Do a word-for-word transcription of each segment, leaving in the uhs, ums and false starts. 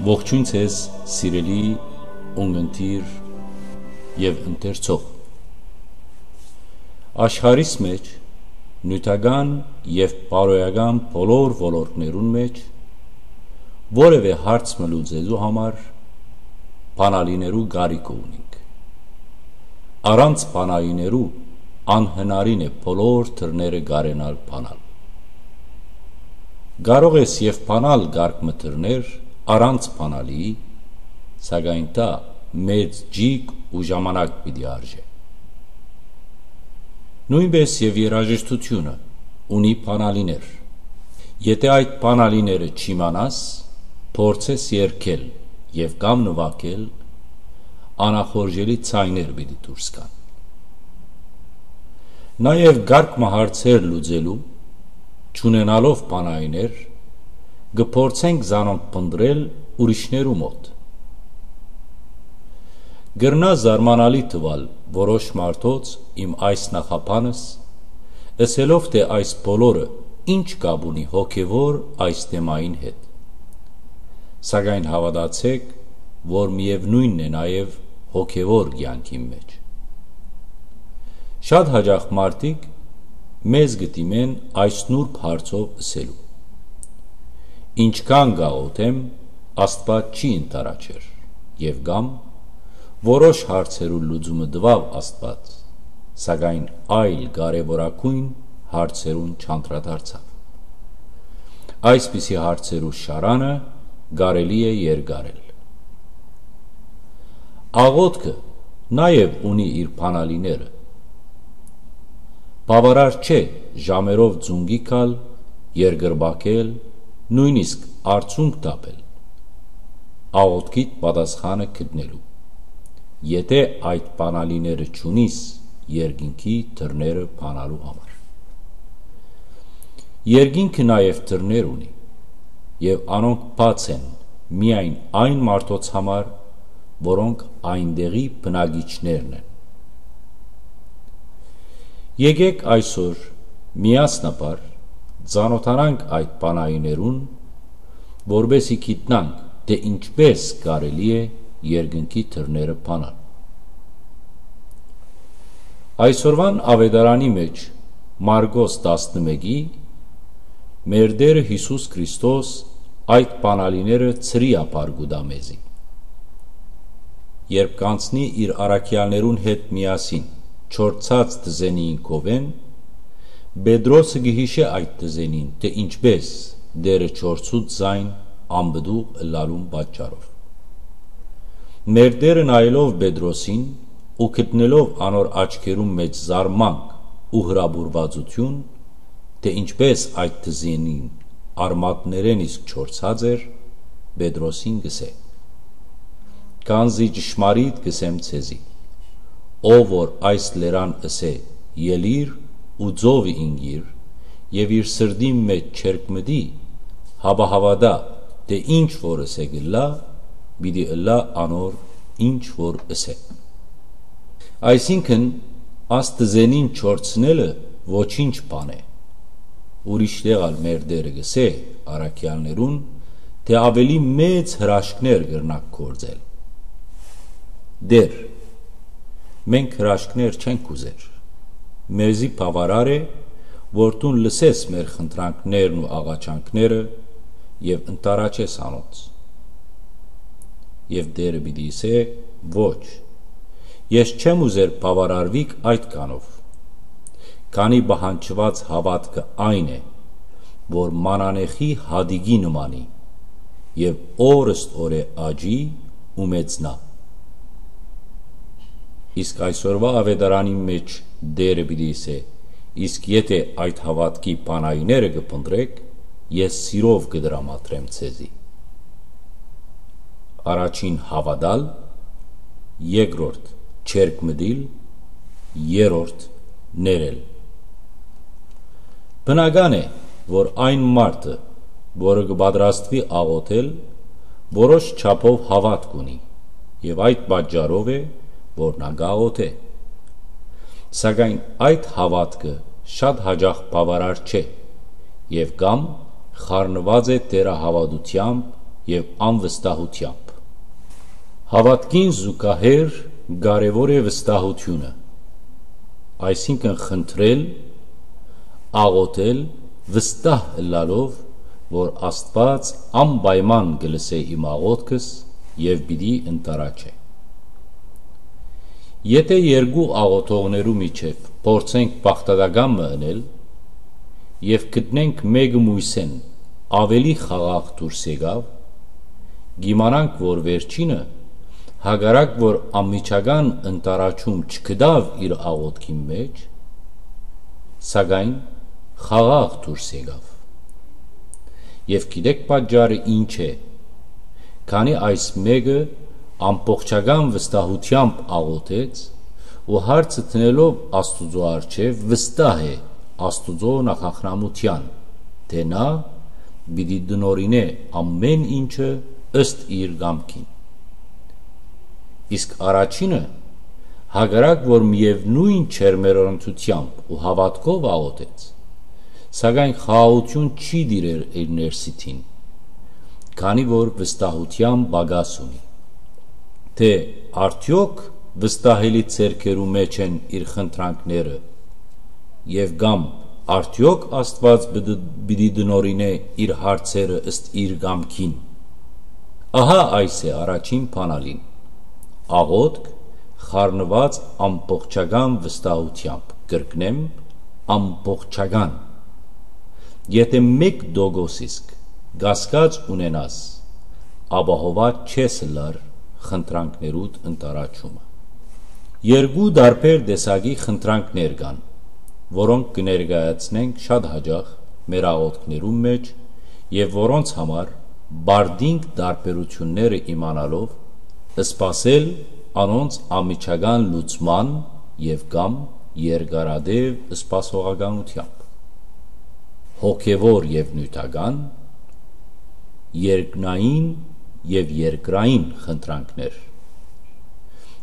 Ողջույն ձեզ, սիրելի ունգընտիր եւ ընթերցող։ Աշխարհիս մէջ, նիւթական եւ բարոյական բոլոր ոլորտներուն մէջ, որեւէ հարց մը լուծելու համար բանալիներու կարիքը ունինք։ Առանց բանալիներու անհնարին է բոլոր դռները կարենալ բանալ։ Կարող ես եւ բանալ կարգ մը դռներ առանց բանալիի, սակայն դա մեծ ջիկ ու ժամանակ պիտի արժէ։ Նոյնպէս եւ երաժշտութիւնը ունի բանալիներ։ Եթէ այդ բանալիները չիմանաս, փորձես երգել եւ կամ նուագել, անախորժելի ձայներ պիտի դուրս գան։ Նաեւ կարգ մը հարցեր լուծելու, չունենալով բանալիներ, կը փորձենք զանոնք փնտռել ուրիշներու մօտ։ Կրնայ զարմանալի թուալ որոշ մարդոց իմ այս նախաբանս, ըսելով թէ այս բոլորը ինչ կապ ունի հոգեւոր այս թեմային հետ։ Սակայն հաւատացէք, որ միեւնոյնն է նաեւ հոգեւոր կեանքին մէջ։ Շատ յաճախ մարդիկ մեզ կը դիմեն այս նուրբ հարցով ըսելու. «Ինչքան կաղօթեմ, Աստուած չի ընդառաջեր», եւ կամ «Որոշ հարցերու լուծումը տուաւ Աստուած, սակայն այլ կարեւորագոյն հարցերուն չանդրադարձաւ»։ Այսպիսի հարցերու շարանը կարելի է երկարել։ Աղօթքը նաեւ ունի իր բանալիները։ Բաւարար չէ ժամերով ծունկի գալ, երկրպագել, նոյնիսկ արցունք թափել, աղօթքիդ պատասխանը գտնելու, եթէ այդ բանալիները չունիս երկինքի դռները բանալու համար։ Երկինքը նաեւ դռներ ունի, եւ անոնք բաց են միայն այն մարդոց համար, որոնք այնտեղի բնակիչներն են։ Եկէք այսօր միասնաբար ծանօթանանք այդ բանալիներուն, որպէսզի գիտնանք, թէ ինչպէս կարելի է երկնքի դռները բանալ։ Այսօրուան աւետարանի մէջ Մարկոս տասնմէկի մեր Տէրը Յիսուս Քրիստոս այդ բանալիները ցրիափառ կու տայ մեզի։ Երբ կանցնի իր առաքեալներուն հետ միասին չորցած տզենիին քովէն, Պետրոսը կը յիշէ այդ տզենին, թէ ինչպէս Տէրը չորցուց զայն անպտուղ ըլլալուն պատճառով։ Մեր Տէրը նայելով Պետրոսին ու գտնելով անոր աչքերուն մէջ զարմանք ու հրապուրուածութիւն, թէ ինչպէս այդ տզենին արմատներէն իսկ չորցած էր, Պետրոսին կ'ըսէ. «Քանզի ճշմարիտ կ'ըսեմ ձեզի, ով որ այս լերան ըսէ. "Ելի՛ր ու ծովը ինկիր", եւ իր սրտին մէջ չերկմտի, հապա հաւատայ, թէ ինչ որ ըսէ կ'ըլլայ, պիտի ըլլայ անոր ինչ որ ըսէ"։ Այսինքն, այս տզենին չորցնելը ոչինչ բան է։ Ուրիշ տեղ ալ մեր Տէրը կ'ըսէ առաքեալներուն, թէ աւելի մեծ հրաշքներ կրնաք գործել։ Տէր, մենք հրաշքներ չենք ուզեր։ Մեզի բաւարար է, որ դուն լսես մեր խնդրանքներն ու աղաչանքները եւ ընդառաջես անոնց։ Եւ Տէրը պիտի ըսէ. «Ոչ, ես չեմ ուզեր բաւարարուիք այդքանով, քանի պահանջուած հաւատքը այն է, որ մանանեխի հատիկի նմանի եւ օրըստօրէ աճի ու մեծնայ»։ Իսկ այսօրուայ աւետարանին մէջ Տէրը պիտի ըսէ. «Իսկ եթէ այդ հաւատքի բանալիները կը փնտռէք, ես սիրով կը տրամադրեմ ձեզի»։ Առաջին՝ հաւատալ, երկրորդ՝ չերկմտիլ, երրորդ՝ ներել։ Բնական է, որ այն մարդը, որը կը պատրաստուի աղօթել, որոշ չափով հաւատք ունի եւ այդ պատճառով է, որ նա կ'աղօթէ։ Սակայն այդ հաւատքը շատ յաճախ բաւարար չէ եւ կամ խառնուած է թերահաւատութեամբ եւ անվստահութեամբ։ Հաւատքին զուգահեռ կարեւոր է վստահութիւնը, այսինքն՝ խնդրել, աղօթել, վստահ ըլլալով, որ Աստուած անպայման կը լսէ իմ աղօթքս եւ պիտի ընդառաջէ։ Եթէ երկու աղօթողներու միջեւ փորձենք բաղդատական մը ընել եւ գտնենք մէկը միւսէն աւելի խաղաղ դուրս եկաւ, կ'իմանանք, որ վերջինը, հակառակ որ անմիջական ընդառաջում չգտաւ իր աղօթքին մէջ, սակայն խաղաղ դուրս եկաւ։ Եւ գիտեք պատճառը ինչ է, քանի այս մէկը ամբողջական վստահութեամբ աղօթեց ու հարցը դնելով Աստուծոյ առջեւ վստահ է Աստուծոյ նախախնամութեան, թէ նա պիտի տնօրինէ ամէն ինչը ըստ իր կամքին։ Իսկ առաջինը, հակառակ որ միեւնոյն ջերմեռանդութեամբ ու հաւատքով աղօթեց, սակայն խաղաղութիւն չի տիրեր իր ներսիդին, քանի որ վստահութեան պակաս ունի, թէ արդեօք վստահելի ձեռքերու մէջ են իր խնդրանքները, եւ կամ արդեօք Աստուած պիտի, պիտի տնօրինէ իր հարցերը ըստ իր կամքին։ Ահա այս է առաջին բանալին. աղօթք խառնուած ամբողջական վստահութեամբ, կրկնեմ, ամբողջական։ Եթէ մէկ տոկոս իսկ կասկած ունենաս, ապահոված չես ըլլար խնդրանքներուդ ընդառաջումը։ Երկու տարբեր տեսակի խնդրանքներ կան, որոնք կը ներկայացնենք շատ յաճախ մեր աղօթքներուն մէջ եւ որոնց համար պարտինք տարբերութիւնները իմանալով, սպասել անոնց անմիջական լուծման եւ կամ երկարատեւ սպասողականութեամբ։ Հոգեվոր եւ նիւթական, երկնային եւ երկրային խնդրանքներ։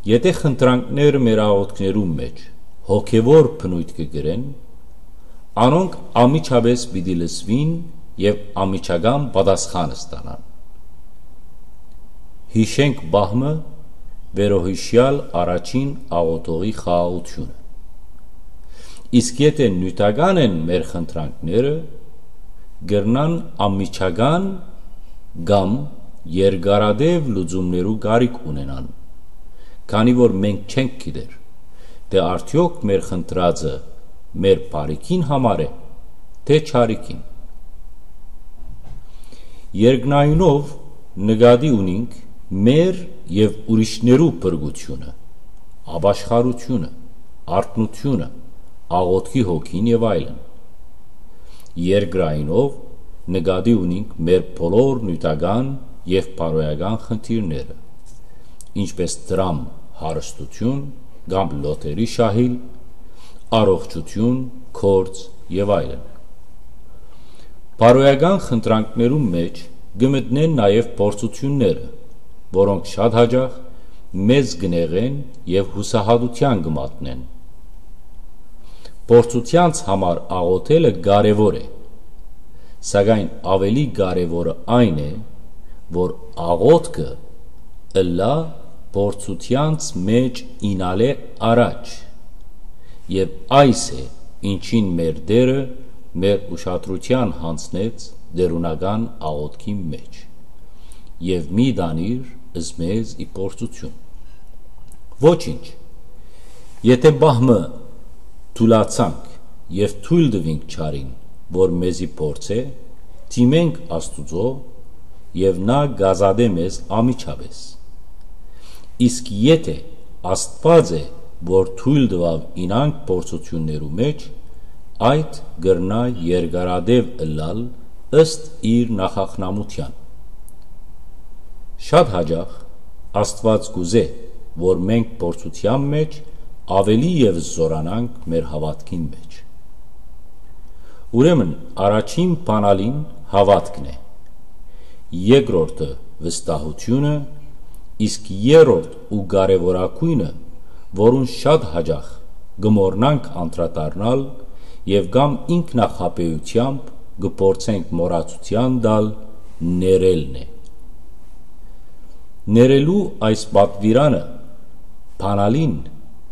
Եթէ խնդրանքները մեր աղօթքներուն մէջ հոգեվոր բնոյթ կը կրեն, անոնք անմիջապէս պիտի լսուին եւ անմիջական պատասխան ստանան։ Յիշենք պահ մը վերոյիշեալ առաջին աղօթողի խաղաղութիւնը։ Իսկ եթէ նիւթական են մեր խնդրանքները, կրնան անմիջական կամ երկարատեւ լուծումներու կարիք ունենան, քանի որ մենք չենք գիտեր, թէ արդեօք մեր խնդրածը մեր բարիքին համար է, թէ չարիքին։ Երկնայինով նկատի ունինք մեր եւ ուրիշներու փրկութիւնը, ապաշխարութիւնը, արթնութիւնը, աղօթքի հոգին եւ այլն։ Երկրայինով նկատի ունինք մեր բոլոր նիւթական եւ բարոյական խնդիրները, ինչպէս դրամ հարստութիւն կամ լոթերի շահիլ, առողջութիւն, գործ եւ այլն։ Բարոյական խնդրանքներուն մէջ կը մտնեն նաեւ փորձութիւնները, որոնք շատ յաճախ մեզ կը նեղեն եւ յուսահատութեան կը մատնեն։ Փորձութեանց համար աղօթելը կարեւոր է, սակայն աւելի կարեւորը այն է, որ աղօթքը ըլլայ փորձութեանց մէջ իյնալէ առաջ, եւ այս է, ինչին մեր Տէրը մեր ուշադրութեան յանձնեց տէրունական աղօթքին մէջ. «Եւ մի տանիր զմեզ ի փորձութիւն»։ Ոչինչ, եթէ պահ մը թուլացանք եւ թոյլ տուինք չարին, որ մեզի փորձէ, դիմենք Աստուծոյ, եւ նա կ'ազատէ մեզ անմիջապէս։ Իսկ եթէ Աստուած է, որ թոյլ տուաւ իյնանք փորձութիւններու մէջ, այդ կրնայ երկարատեւ ըլլալ ըստ իր նախախնամութեան։ Շատ յաճախ Աստուած կ'ուզէ, որ մենք փորձութեան մէջ աւելի եւս զօրանանք մեր հաւատքին մէջ։ Ուրեմն առաջին բանալին հաւատքն է, երկրորդը վստահութիւնը, իսկ երրորդ ու կարեւորագոյնը, որուն շատ յաճախ կը մոռնանք անդրադառնալ եւ կամ ինքնախաբէութեամբ կը փորձենք մոռացութեան տալ, ներելն է։ Ներելու այս պատուիրանը բանալին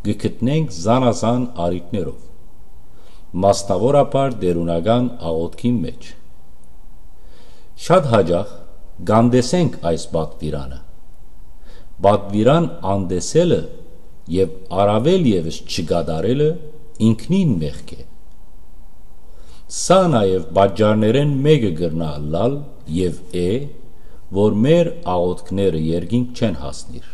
կը գտնենք զանազան առիթներով, մասնաւորաբար տէրունական աղօթքին մէջ։ Շատ յաճախ կ'անտեսենք այս պատուիրանը։ Պատուիրան անտեսելը եւ առաւել եւս չկատարելը ինքնին մեղք է։ Սա նաեւ պատճառներէն մէկը կրնայ ըլլալ եւ է, որ մեր աղօթքները երկինք չեն հասնիր։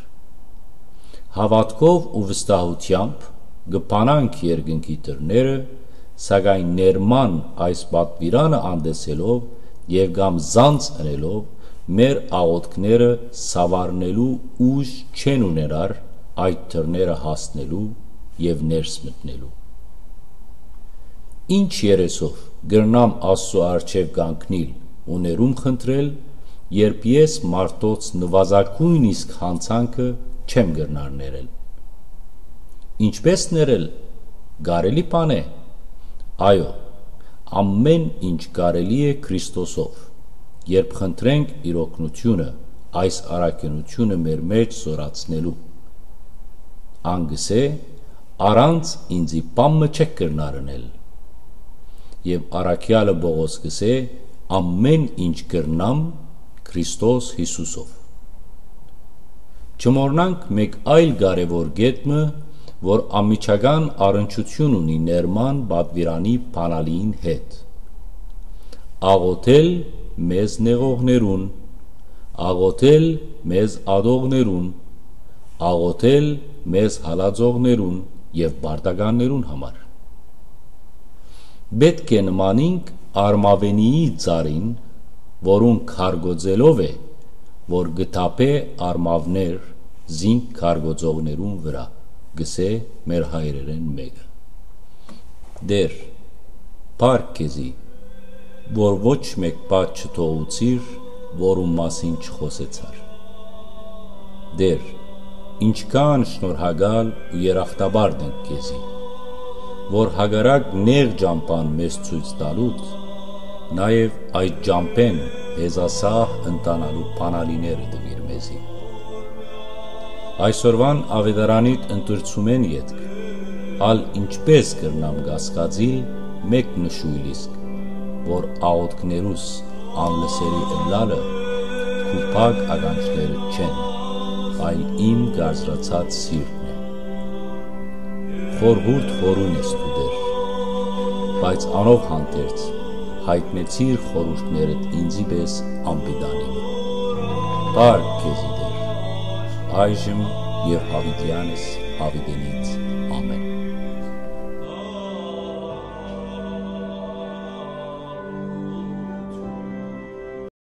Հաւատքով ու վստահութեամբ կը բանանք երկնքի դռները, սակայն ներման այս պատուիրանը անտեսելով եւ կամ զանց ընելով, մեր աղօթքները սաւառնելու ուժ չեն ունենար այդ դռները հասնելու եւ ներս մտնելու։ Ինչ երեսով կրնամ Աստծու առջեւ կանգնիլ ու ներում խնդրել, երբ ես մարդոց նուազագոյն իսկ յանցանքը չեմ կրնար ներել։ Ինչպե՞ս ներել, կարելի բան է։ Այո, ամեն ինչ կարելի է Քրիստոսով, երբ խնդրենք իր օգնությունը այս առաքինությունը մեր մէջ զորացնելու։ Ան կ'ըսէ. «Առանց ինծի բան մը չէք կրնար ընել»։ Եւ առաքեալը Պողոս կ'ըսէ. «Ամեն ինչ կրնամ Քրիստոս Յիսուսով»։ Չմոռնանք մէկ այլ կարեւոր կետ մը, որ անմիջական առնչութիւն ունի ներման պատուիրանի բանալիին հետ։ Աղօթել մեզ նեղողներուն, աղօթել մեզ ատողներուն, աղօթել մեզ հալածողներուն եւ պարտականներուն համար։ Պէտք է նմանինք արմաւենիի ծառին, որուն քարկոծելով է, որ կը թափէ արմաւներ զինք քարկոծողներուն վրայ, կ'ըսէ մեր հայրերէն մէկը։ Տէր, փառք քեզի, որ ոչ մէկ բան չթողուցիր, որուն մասին չխօսեցար։ Տէր, ինչքան շնորհակալ ու երախտապարտ ենք քեզի, որ հակառակ նեղ ճամբան մեզ ցոյց տալուդ, նաեւ այդ ճամբէն հեզասահ ընթանալու բանալիները տուիր մեզի։ Այսօրուան աւետարանիդ ընտրցումէն ետք, ալ ինչպէս կրնամ կասկածիլ մէկ նշոյլ իսկ, որ աղօթքներուս անլսելի ըլլալը քու փակ ականջները չեն, այլ իմ կարծրացած սիրտն է։ Խորհուրդ խորուն ես դու, Տէր, բայց անով հանդերձ յայտնեցիր խորհուրդներդ ինծի պէս անպիտանի մը։ Փառք քեզի, Տէր, այժմ եւ յաւիտեանս յաւիտենից։